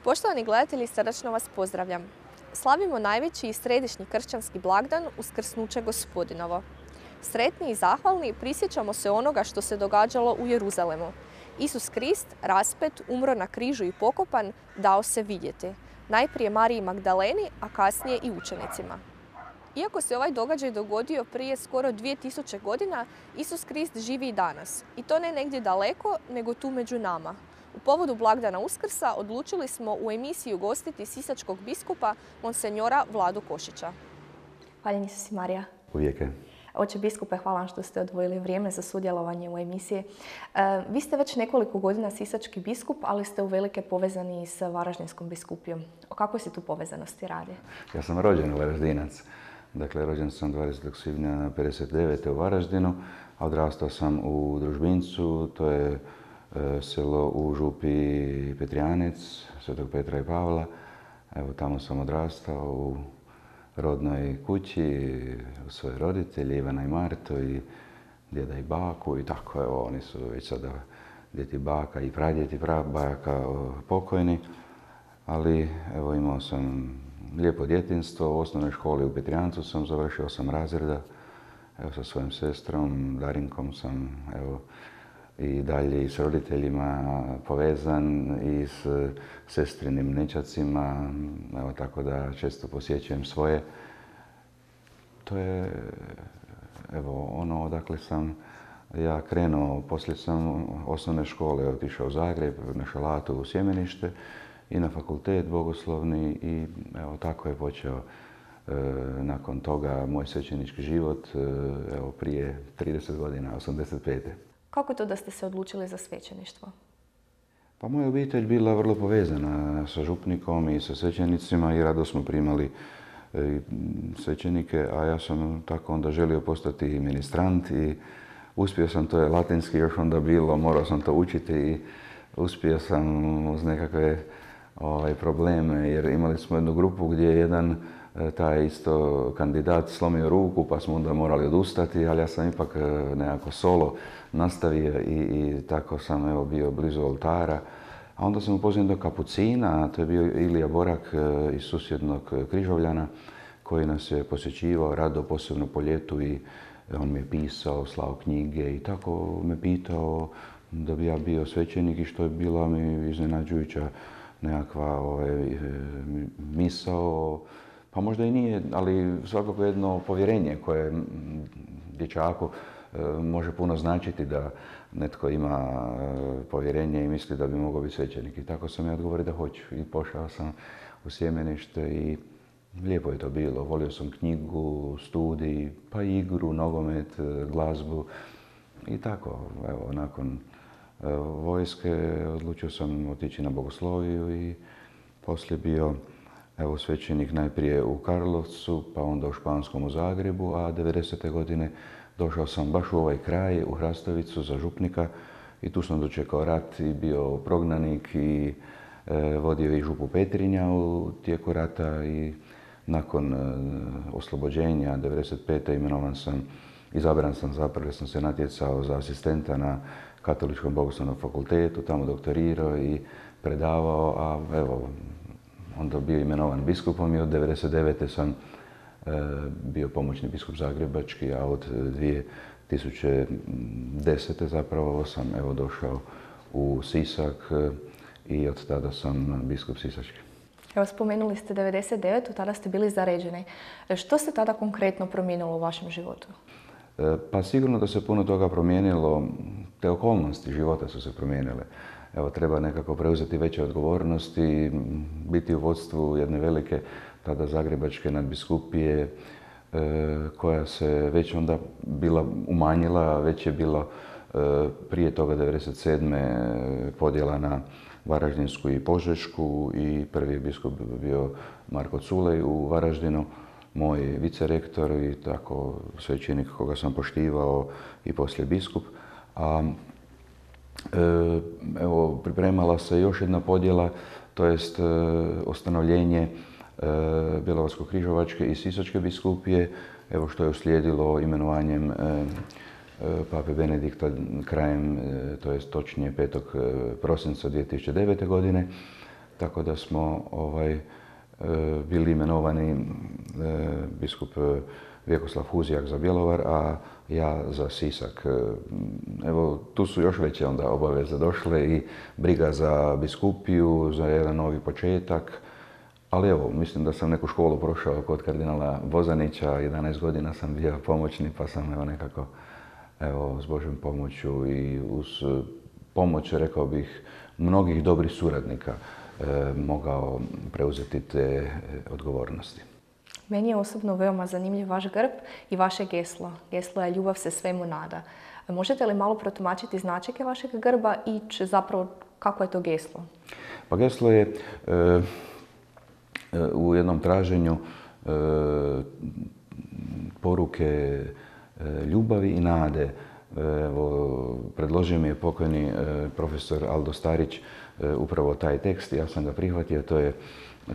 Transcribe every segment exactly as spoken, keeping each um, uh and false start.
Poštovani gledatelji, srdačno vas pozdravljam. Slavimo najveći i središnji kršćanski blagdan Uskrsnuće Gospodinovo. Sretni i zahvalni prisjećamo se onoga što se događalo u Jeruzalemu. Isus Krist, raspet, umro na križu i pokopan, dao se vidjeti. Najprije Mariji Magdaleni, a kasnije i učenicima. Iako se ovaj događaj dogodio prije skoro dvije tisuće godina, Isus Krist živi i danas. I to ne negdje daleko, nego tu među nama. U povodu blagdana Uskrsa odlučili smo u emisiji ugostiti sisačkog biskupa monsenjora Vladu Košića. Hvaljen Isus i Marija. Uvijek je. Oče biskupe, hvala vam što ste odvojili vrijeme za sudjelovanje u emisiji. E, vi ste već nekoliko godina sisački biskup, ali ste uvelike povezani s Varaždinskom biskupijom. O kakvoj se tu povezanosti radi? Ja sam rođen Varaždinac. Dakle, rođen sam dvadesetog svibnja pedeset devete u Varaždinu, a odrastao sam u Družbincu, to je e, selo u župi Petrijanec, Svetog Petra i Pavla. Evo, tamo sam odrastao u rodnoj kući, u svoje roditelji, Ivana i Marto, i djeda i baku, i tako, evo, oni su već sada djed i baka i pradjed i prabaka pokojni, ali evo, imao sam lijepo djetinjstvo. U osnovnoj školi u Petrijancu sam završio osam razreda. Evo, sa svojom sestrom Darinkom sam, evo, i dalje i s roditeljima povezan, i s sestrinim nećacima, evo, tako da često posjećujem svoje. To je, evo, ono odakle sam ja krenuo. Poslije sam osnovne škole otišao u Zagreb, na Šalatu u Sjemenište i na fakultet bogoslovni, i evo, tako je počeo e, nakon toga moj svećenički život, e, evo, prije trideset godina, osamdeset pete. Kako to da ste se odlučili za svećeništvo? Pa moja obitelj bila vrlo povezana sa župnikom i sa svećenicima i rado smo primali e, svećenike, a ja sam tako onda želio postati ministrant i uspio sam, to je latinski još onda bilo, morao sam to učiti i uspio sam uz nekakve ovaj, probleme, jer imali smo jednu grupu gdje je jedan taj isto kandidat slomio ruku, pa smo onda morali odustati, ali ja sam ipak nekako solo nastavio i, i tako sam, evo, bio blizu oltara. A onda sam upoznao do kapucina, a to je bio Ilija Borak iz susjednog Križovljana, koji nas je posjećivao rado, posebno po ljetu, i on mi je pisao, slao knjige i tako me pitao da bi ja bio svećenik, i što je bila mi iznenađujuća nekakva ovaj, misao. Pa možda i nije, ali svakako jedno povjerenje koje dječaku može puno značiti, da netko ima povjerenje i misli da bi mogao biti svećenik. I tako sam ja odgovorio da hoću. I pošao sam u Sjemenište i lijepo je to bilo. Volio sam knjigu, studij, pa igru, nogomet, glazbu. I tako, evo, nakon vojske odlučio sam otići na bogosloviju i poslije bio, evo, svećenik najprije u Karlovcu, pa onda u Španskom u Zagrebu, a devedesete godine došao sam baš u ovaj kraj, u Hrastovicu, za župnika, i tu sam dočekao rat i bio prognanik i e, vodio i župu Petrinja u tijeku rata, i nakon e, oslobođenja devedeset pete imenovan sam, izabran sam zapravo, jer sam se natjecao za asistenta na Katoličkom bogoslovnom fakultetu, tamo doktorirao i predavao, a evo, onda bio imenovan biskupom, i od devedeset devete sam e, bio pomoćni biskup zagrebački, a od dvije tisuće desete zapravo sam, evo, došao u Sisak, e, i od tada sam biskup sisački. Evo, spomenuli ste devedeset devetu, tada ste bili zaređeni. Što se tada konkretno promijenilo u vašem životu? E, pa sigurno da se puno toga promijenilo, te okolnosti života su se promijenile. Evo, treba nekako preuzeti veće odgovornosti, biti u vodstvu jedne velike, tada zagrebačke nadbiskupije, e, koja se već onda bila umanjila, već je bilo e, prije toga devedeset sedme podjela na Varaždinsku i Požešku, i prvi je biskup bio Marko Culej u Varaždinu, moj vicerektor i tako svećenik koga sam poštivao, i poslije biskup. A evo, pripremala se još jedna podjela, to jest ustanovljenje Bjelovarsko-križevačke i Sisačke biskupije, evo, što je uslijedilo imenovanjem pape Benedikta krajem, to jest točnije petog prosinca dvije tisuće devete godine. tako da smo ovaj, bili imenovani biskup Vjekoslav Huzijak za Bjelovar, a ja za Sisak. Evo, tu su još veće onda obaveze došle i briga za biskupiju, za jedan novi početak. Ali evo, mislim da sam neku školu prošao kod kardinala Bozanića, jedanaest godina sam bio pomoćni, pa sam evo nekako, evo, s Božjom pomoću i uz pomoć, rekao bih, mnogih dobrih suradnika eh, mogao preuzeti te odgovornosti. Meni je osobno veoma zanimljiv vaš grb i vaše geslo. Geslo je ljubav se svemu nada. Možete li malo protumačiti značajke vašeg grba i č, zapravo kako je to geslo? Pa geslo je e, u jednom traženju e, poruke e, ljubavi i nade. Evo, predložio mi je pokojni e, profesor Aldo Starić e, upravo taj tekst. Ja sam ga prihvatio. To je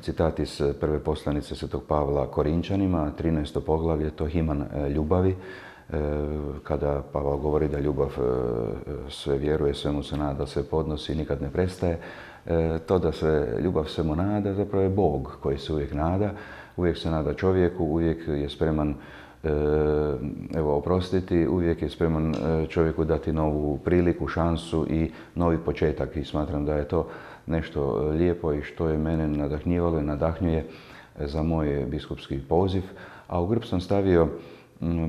citat iz prve poslanice Svetog Pavla Korinčanima, trinaesto poglavlje, to himan ljubavi, kada Pavao govori da ljubav sve vjeruje, svemu se nada, sve podnosi, nikad ne prestaje. To da se ljubav svemu nada zapravo je Bog koji se uvijek nada, uvijek se nada čovjeku, uvijek je spreman evo, oprostiti, uvijek je spreman čovjeku dati novu priliku, šansu i novi početak i smatram da je to nešto lijepo i što je mene nadahnjivalo i nadahnjuje za moj biskupski poziv. A u grb sam stavio,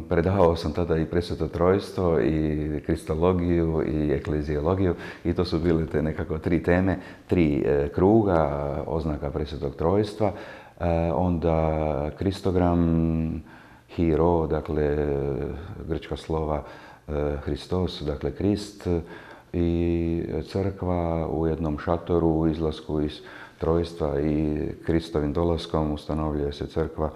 predavao sam tada i Presveto trojstvo i kristologiju i ekleziologiju i to su bile te nekako tri teme, tri kruga, oznaka Presvetog trojstva, onda kristogram, hiro, dakle grčka slova Hristos, dakle Krist, i crkva u jednom šatoru u izlasku iz trojstva i Kristovim dolaskom ustanovljuje se crkva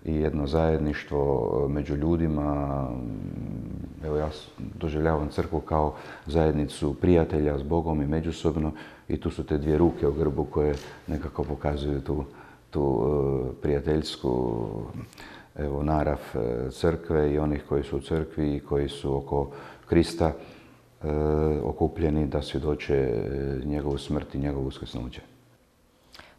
i jedno zajedništvo među ljudima. Evo, ja doživljavam crkvu kao zajednicu prijatelja s Bogom i međusobno i tu su te dvije ruke u grbu koje nekako pokazuju tu, tu prijateljsku evo, narav crkve i onih koji su u crkvi i koji su oko Krista okupljeni da svjedoče njegovu smrt i njegovu uskrsnuće.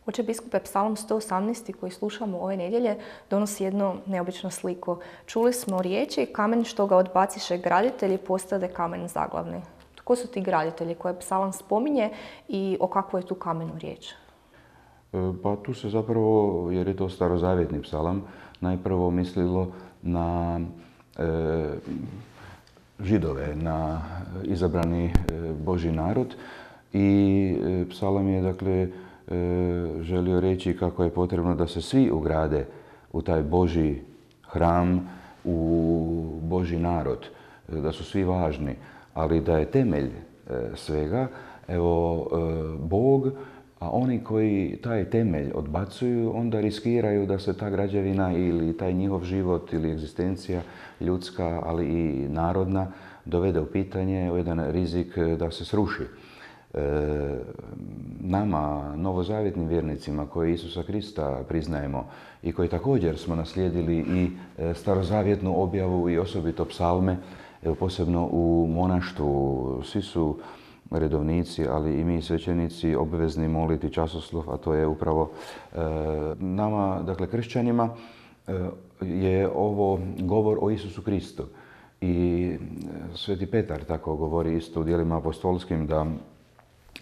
Oče biskupe, Psalam sto osamnaest koji slušamo ove nedjelje donosi jednu neobičnu sliku. Čuli smo riječi: kamen što ga odbaciše graditelji postade kamen zaglavni. Tko su ti graditelji koje Psalam spominje i o kakvoj je tu kamenu riječ? Pa tu se zapravo, jer je to starozavjetni psalam, najprvo mislilo na e, Židove, na izabrani Božji narod i psalam je dakle želio reći kako je potrebno da se svi ugrade u taj Božji hram, u Božji narod, da su svi važni, ali da je temelj svega, evo, Bog, a oni koji taj temelj odbacuju, onda riskiraju da se ta građevina ili taj njihov život ili egzistencija ljudska, ali i narodna, dovede u pitanje, u jedan rizik da se sruši. E, nama, novozavjetnim vjernicima koji Isusa Krista priznajemo i koji također smo naslijedili i starozavjetnu objavu i osobito psalme, evo, posebno u monaštvu, svi su redovnici, ali i mi svećenici obvezni moliti časoslov, a to je upravo e, nama, dakle kršćanima, e, je ovo govor o Isusu Kristu. I Sveti Petar tako govori isto u djelima apostolskim da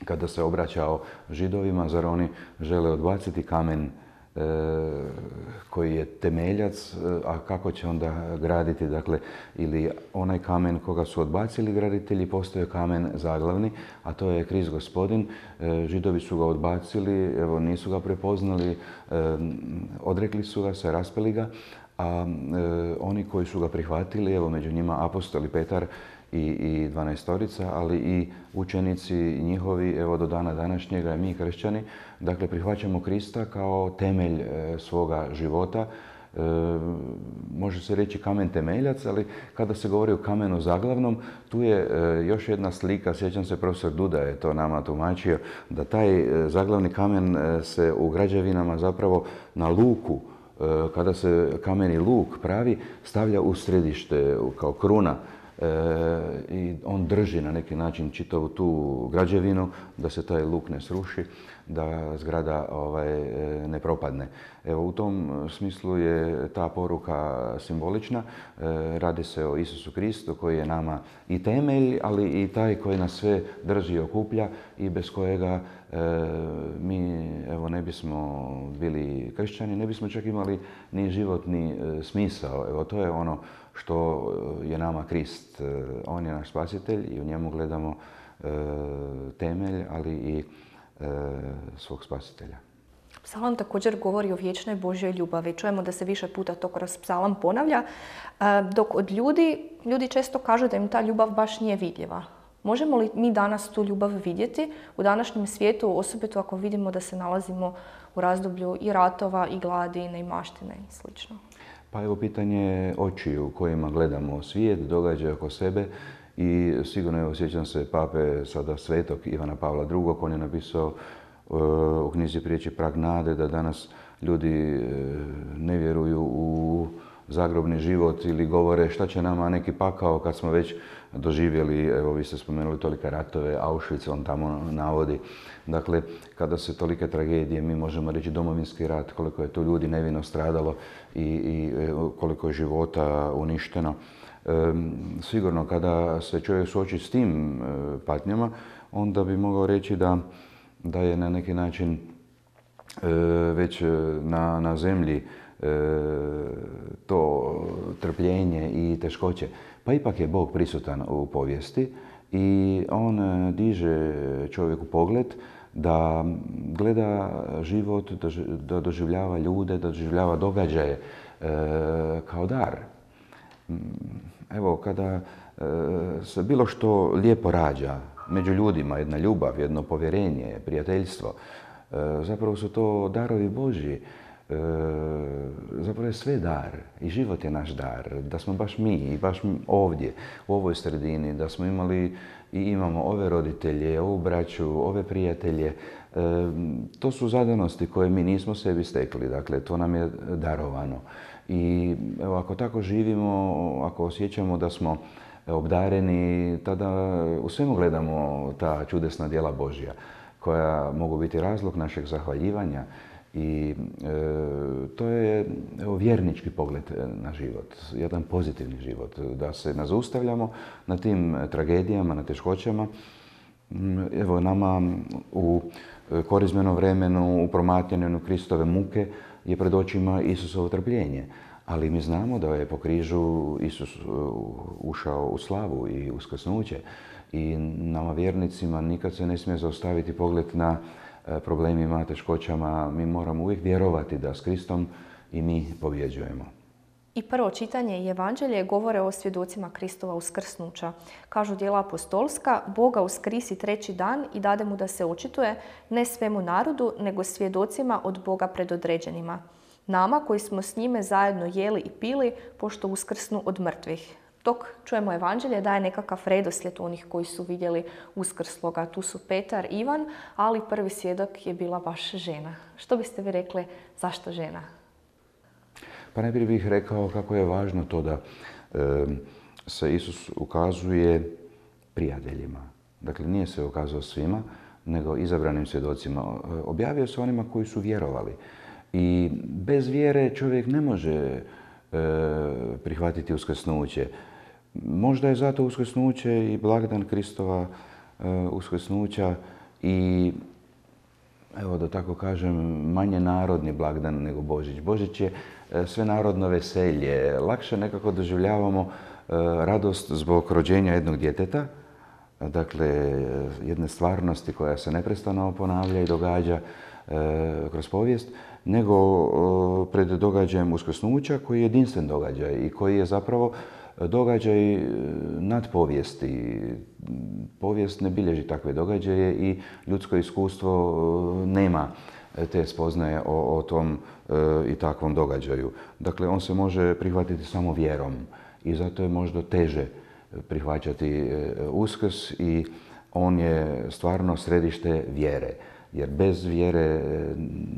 kada se obraćao Židovima, zar oni žele odbaciti kamen e, koji je temeljac, a kako će onda graditi, dakle, ili onaj kamen koga su odbacili graditelji postoje kamen zaglavni, a to je Krist Gospodin. E, Židovi su ga odbacili, evo, nisu ga prepoznali, e, odrekli su ga se, raspeli ga, a e, oni koji su ga prihvatili, evo među njima apostoli Petar i, i dvanaestorica, ali i učenici njihovi, evo do dana današnjega i mi kršćani, dakle prihvaćamo Krista kao temelj e, svoga života. E, može se reći kamen temeljac, ali kada se govori o kamenu zaglavnom, tu je e, još jedna slika, sjećam se profesor Duda je to nama tumačio, da taj e, zaglavni kamen e, se u građevinama zapravo na luku, kada se kameni luk pravi, stavlja u središte kao kruna i on drži na neki način čitavu tu građevinu da se taj luk ne sruši, da zgrada ovaj, ne propadne. Evo, u tom smislu je ta poruka simbolična. Radi se o Isusu Kristu koji je nama i temelj, ali i taj koji nas sve drži i okuplja i bez kojega mi evo, ne bismo bili kršćani, ne bismo čak imali ni životni smisao. Evo, to je ono što je nama Krist. On je naš spasitelj i u njemu gledamo temelj, ali i svog spasitelja. Psalam također govori o vječnoj Božjoj ljubavi. Čujemo da se više puta to kroz psalam ponavlja, dok od ljudi, ljudi često kažu da im ta ljubav baš nije vidljiva. Možemo li mi danas tu ljubav vidjeti u današnjem svijetu, osobito ako vidimo da se nalazimo u razdoblju i ratova, i gladi, i neimaštine i sl. Pa evo pitanje očiju kojima gledamo svijet, događaje oko sebe i sigurno evo, sjećam se pape sada svetog Ivana Pavla drugog. On je napisao u knjizi Prijeći prag nade da danas ljudi ne vjeruju u zagrobni život ili govore šta će nama neki pakao kad smo već doživjeli, evo vi ste spomenuli tolike ratove, Auschwitz on tamo navodi. Dakle, kada se tolike tragedije, mi možemo reći Domovinski rat, koliko je to ljudi nevino stradalo i, i koliko je života uništeno. E, sigurno kada se čovjek suoči s tim e, patnjama, onda bi mogao reći da, da je na neki način e, već na, na zemlji to trpljenje i teškoće. Pa ipak je Bog prisutan u povijesti i on diže čovjeku pogled da gleda život, da doživljava ljude, da doživljava događaje kao dar. Evo, kada se bilo što lijepo rađa među ljudima, jedna ljubav, jedno povjerenje, prijateljstvo, zapravo su to darovi Božji. E, zapravo je sve dar i život je naš dar, da smo baš mi i baš ovdje, u ovoj sredini, da smo imali i imamo ove roditelje, ovu braću, ove prijatelje. E, to su zadanosti koje mi nismo sebi stekli, dakle to nam je darovano. I evo, ako tako živimo, ako osjećamo da smo obdareni, tada u svemu gledamo ta čudesna djela Božja koja mogu biti razlog našeg zahvaljivanja. I e, to je evo, vjernički pogled na život, jedan pozitivni život, da se ne zaustavljamo na tim tragedijama, na teškoćama. Evo, nama u korizmenom vremenu, u promatranju Kristove muke je pred očima Isusovo trpljenje. Ali mi znamo da je po križu Isus ušao u slavu i uskrsnuće. I nama vjernicima nikad se ne smije zaustaviti pogled na problemima, teškoćama. Mi moramo uvijek vjerovati da s Kristom i mi pobjeđujemo. I prvo čitanje i evanđelje govore o svjedocima Kristova uskrsnuća. Kažu djela apostolska, Boga uskrisi treći dan i dade mu da se očituje ne svemu narodu, nego svjedocima od Boga predodređenima. Nama koji smo s njime zajedno jeli i pili, pošto uskrsnu od mrtvih. Dok čujemo evanđelje daje nekakav redoslijed onih koji su vidjeli uskrsloga. Tu su Petar, Ivan, ali prvi svjedok je bila baš žena. Što biste vi rekli, zašto žena? Pa najprije bih rekao kako je važno to da e, se Isus ukazuje prijateljima. Dakle, nije se ukazao svima, nego izabranim svjedocima. Objavio se onima koji su vjerovali. I bez vjere čovjek ne može e, prihvatiti uskrsnuće. Možda je zato uskrsnuće i blagdan Kristova e, uskrsnuća i, evo da tako kažem, manje narodni blagdan nego Božić. Božić je e, svenarodno veselje. Lakše nekako doživljavamo e, radost zbog rođenja jednog djeteta, dakle jedne stvarnosti koja se neprestano ponavlja i događa e, kroz povijest, nego e, pred događajem uskrsnuća koji je jedinstven događaj i koji je zapravo događaj nad povijesti. Povijest ne bilježi takve događaje i ljudsko iskustvo nema te spoznaje o, o tom e, i takvom događaju. Dakle, on se može prihvatiti samo vjerom i zato je možda teže prihvaćati Uskrs i on je stvarno središte vjere. Jer bez vjere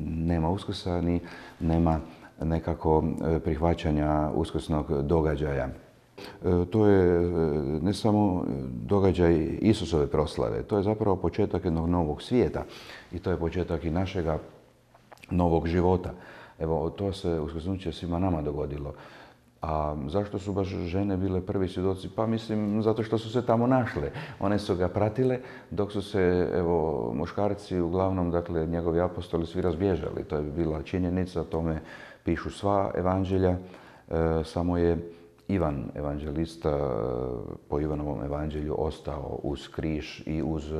nema Uskrsa ni nema nekako prihvaćanja uskrsnog događaja. To je ne samo događaj Isusove proslave, to je zapravo početak jednog novog svijeta i to je početak i našega novog života. Evo, to se uskrsnuće svima nama dogodilo. A zašto su baš žene bile prvi svjedoci? Pa mislim, zato što su se tamo našle. One su ga pratile, dok su se, evo, muškarci, uglavnom, dakle, njegovi apostoli svi razbježali. To je bila činjenica, o tome pišu sva evanđelja. E, samo je Ivan, evanđelista, po Ivanovom evanđelju ostao uz križ i uz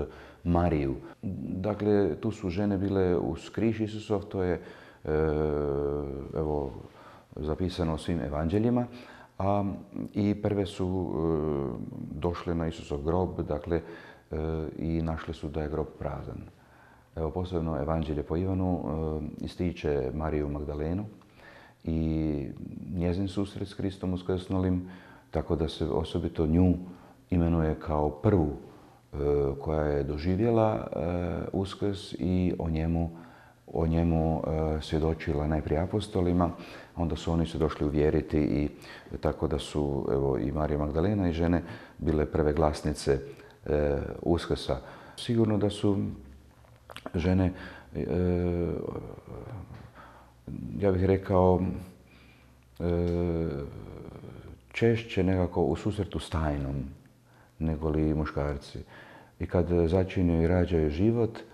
Mariju. Dakle, tu su žene bile uz križ Isusov, to je, e, evo, zapisano u svim evanđeljima, a i prve su e, došle na Isusov grob, dakle, e, i našle su da je grob prazan. Evo, posebno evanđelje po Ivanu e, ističe Mariju Magdalenu i njezin susret s Kristom uskrsnulim, tako da se osobito nju imenuje kao prvu e, koja je doživjela e, uskrs i o njemu o njemu e, svjedočila najprije apostolima, onda su oni se došli uvjeriti i tako da su, evo, i Marija Magdalena i žene bile prve glasnice e, uskrsa. Sigurno da su žene, e, ja bih rekao, e, češće nekako u susretu s tajnom nego li muškarci. I kad začinju i rađaju život, e,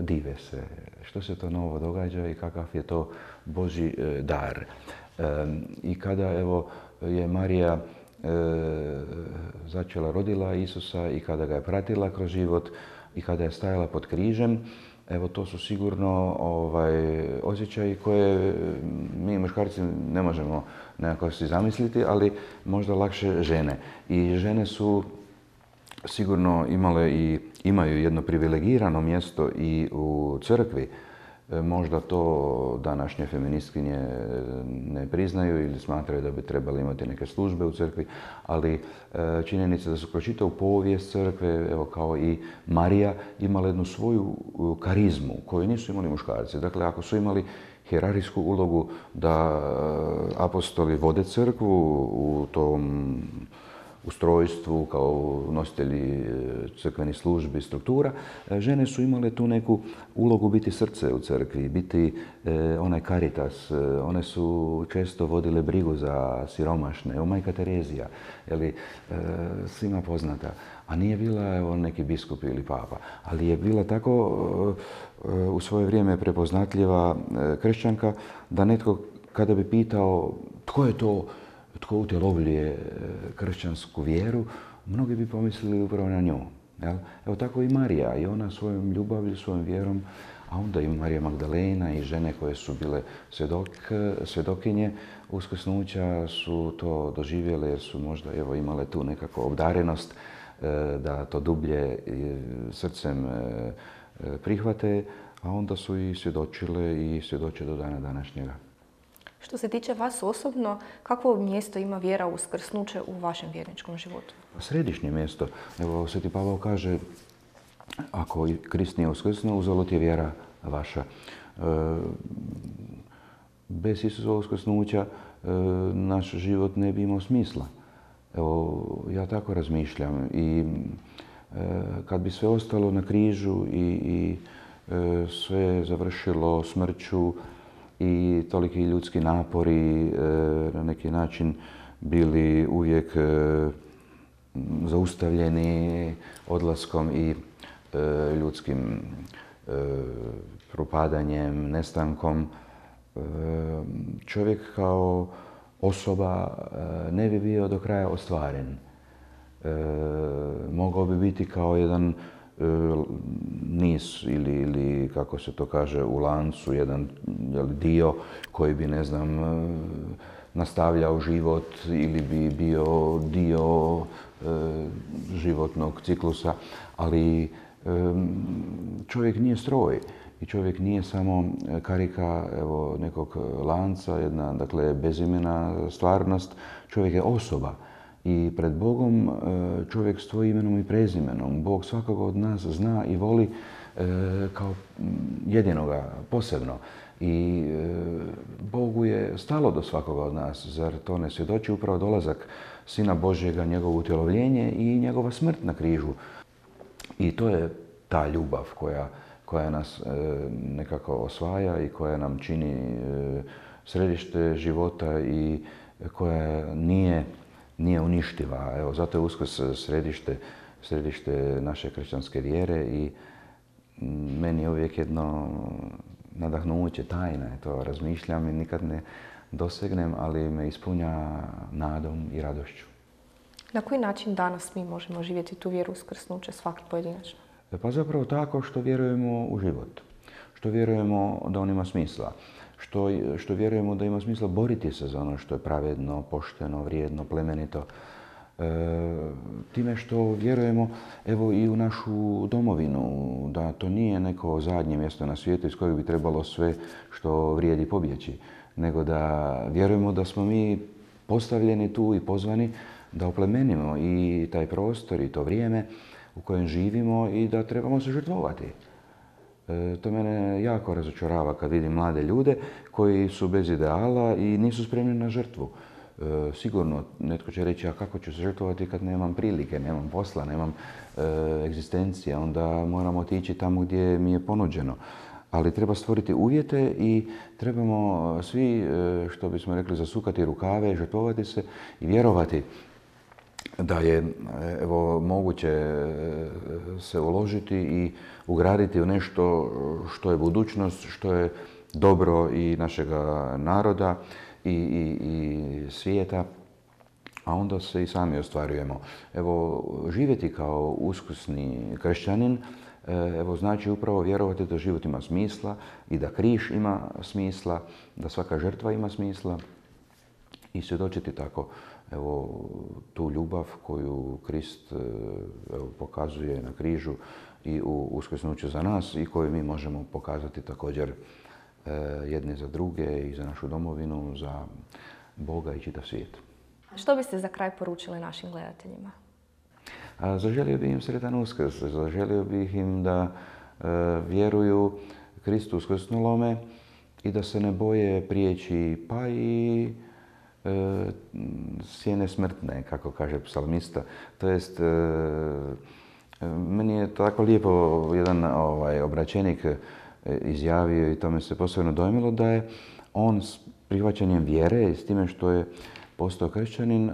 dive se što se to novo događa i kakav je to Božji e, dar. E, I kada, evo, je Marija e, začela, rodila Isusa i kada ga je pratila kroz život i kada je stajala pod križem, evo, to su sigurno ovaj, osjećaji koje mi muškarci ne možemo nekako si zamisliti, ali možda lakše žene. I žene su sigurno imale i imaju jedno privilegirano mjesto i u crkvi. Možda to današnje feministkinje ne priznaju ili smatraju da bi trebali imati neke službe u crkvi, ali činjenica da su kroz čitavu povijest crkve, evo, kao i Marija, imala jednu svoju karizmu koju nisu imali muškarci. Dakle, ako su imali hijerarhijsku ulogu da apostoli vode crkvu u tom ustrojstvu, kao nositelji crkvenih službi i struktura, žene su imale tu neku ulogu biti srce u crkvi, biti e, onaj karitas. One su često vodile brigu za siromašne. Evo, majka Terezija, je e, svima poznata, a nije bila, evo, neki biskup ili papa, ali je bila tako e, u svoje vrijeme prepoznatljiva e, kršćanka da netko kada bi pitao tko je to tko utjelovljuje kršćansku vjeru, mnogi bi pomislili upravo na nju. Jel? Evo, tako i Marija, i ona svojom ljubavlju, svojom vjerom, a onda i Marija Magdalena i žene koje su bile svjedok, svjedokinje uskrsnuća su to doživjele jer su možda, evo, imale tu nekako obdarenost da to dublje srcem prihvate, a onda su i svjedočile i svjedoče do dana današnjega. Što se tiče vas osobno, kakvo mjesto ima vjera u uskrsnuće u vašem vjerničkom životu? Središnje mjesto. Evo, Sveti Pavao kaže, ako Krist nije uskrsnuo, uzalud je vjera vaša. E, bez Isusova uskrsnuća e, naš život ne bi imao smisla. Evo, ja tako razmišljam. I e, kad bi sve ostalo na križu i, i e, sve završilo smrću, i toliki ljudski napori e, na neki način bili uvijek e, zaustavljeni odlaskom i e, ljudskim e, propadanjem, nestankom. E, čovjek kao osoba e, ne bi bio do kraja ostvaren. E, mogao bi biti kao jedan niz ili, ili kako se to kaže u lancu, jedan dio koji bi, ne znam, nastavljao život ili bi bio dio e, životnog ciklusa, ali e, čovjek nije stroj i čovjek nije samo karika, evo, nekog lanca, jedna, dakle, bezimena stvarnost. Čovjek je osoba. I pred Bogom čovjek stoji imenom i prezimenom. Bog svakoga od nas zna i voli e, kao jedinoga, posebno. I Bogu je stalo do svakoga od nas. Zar to ne svjedoči upravo dolazak Sina Božjega, njegovo utjelovljenje i njegova smrt na križu? I to je ta ljubav koja, koja nas nekako osvaja i koja nam čini središte života i koja nije, nije uništiva. Evo, zato je Uskrs središte, središte naše kršćanske vjere i meni je uvijek jedno nadahnuće, tajna je to. Razmišljam i nikad ne dosegnem, ali me ispunja nadom i radošću. Na koji način danas mi možemo živjeti tu vjeru uskrsnuće svaki pojedinačno? Pa zapravo tako što vjerujemo u život, što vjerujemo da on ima smisla, što, što vjerujemo da ima smisla boriti se za ono što je pravedno, pošteno, vrijedno, plemenito. E, time što vjerujemo evo i u našu domovinu, da to nije neko zadnje mjesto na svijetu iz kojeg bi trebalo sve što vrijedi pobjeći, nego da vjerujemo da smo mi postavljeni tu i pozvani da oplemenimo i taj prostor i to vrijeme u kojem živimo i da trebamo se žrtvovati. E, to mene jako razočarava kad vidim mlade ljude koji su bez ideala i nisu spremni na žrtvu. E, sigurno netko će reći, a kako ću se žrtvovati kad nemam prilike, nemam posla, nemam e, egzistencije, onda moram otići tamo gdje mi je ponuđeno. Ali treba stvoriti uvjete i trebamo svi, e, što bismo rekli, zasukati rukave, žrtvovati se i vjerovati da je evo, moguće se uložiti i ugraditi u nešto što je budućnost, što je dobro i našega naroda i, i, i svijeta, a onda se i sami ostvarujemo. Evo, živjeti kao uskrsni kršćanin, evo, znači upravo vjerovati da život ima smisla i da križ ima smisla, da svaka žrtva ima smisla i svjedočiti tako evo, tu ljubav koju Krist evo, pokazuje na križu i u uskrsnuću za nas i koju mi možemo pokazati također e, jedni za druge i za našu domovinu, za Boga i čitav svijet. Što biste za kraj poručili našim gledateljima? A, zaželio bih im sretan Uskrs, zaželio bih im da e, vjeruju Kristu uskrsnulome i da se ne boje prijeći pa i E, sjene smrtne, kako kaže psalmista. To jest, e, meni je tako lijepo jedan ovaj, obraćenik izjavio i to me se posebno dojmilo da je on s prihvaćanjem vjere i s time što je postao kršćanin e,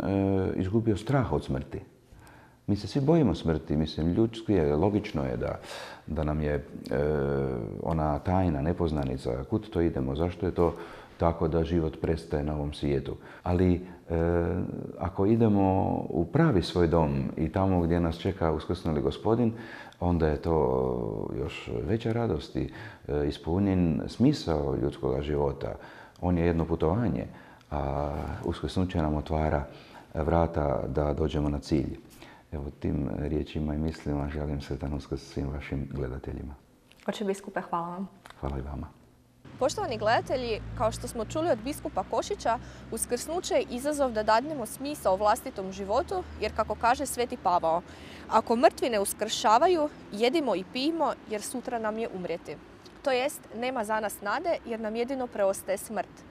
izgubio strah od smrti. Mi se svi bojimo smrti, mislim, ljudski je, logično je da, da nam je e, ona tajna, nepoznanica, kud to idemo, zašto je to tako da život prestaje na ovom svijetu. Ali e, ako idemo u pravi svoj dom i tamo gdje nas čeka uskrsnuli Gospodin, onda je to još veća radost i e, ispunjen smisao ljudskog života. On je jedno putovanje, a uskrsnuće nam otvara vrata da dođemo na cilj. Evo, tim riječima i mislima želim sretan Uskrs svim vašim gledateljima. Oče biskupe, hvala vam. Hvala i vama. Poštovani gledatelji, kao što smo čuli od biskupa Košića, uskrsnuće je izazov da dadnemo smisao vlastitom životu, jer kako kaže Sveti Pavao, ako mrtvi ne uskršavaju, jedimo i pijmo, jer sutra nam je umrijeti. To jest, nema za nas nade, jer nam jedino preostaje smrt.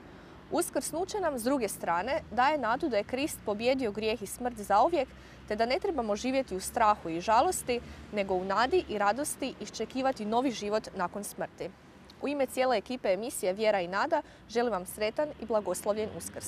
Uskrsnuće nam, s druge strane, daje nadu da je Krist pobjedio grijeh i smrt zauvijek, te da ne trebamo živjeti u strahu i žalosti, nego u nadi i radosti iščekivati novi život nakon smrti. U ime cijele ekipe emisije Vjera i nada želim vam sretan i blagoslovljen Uskrs.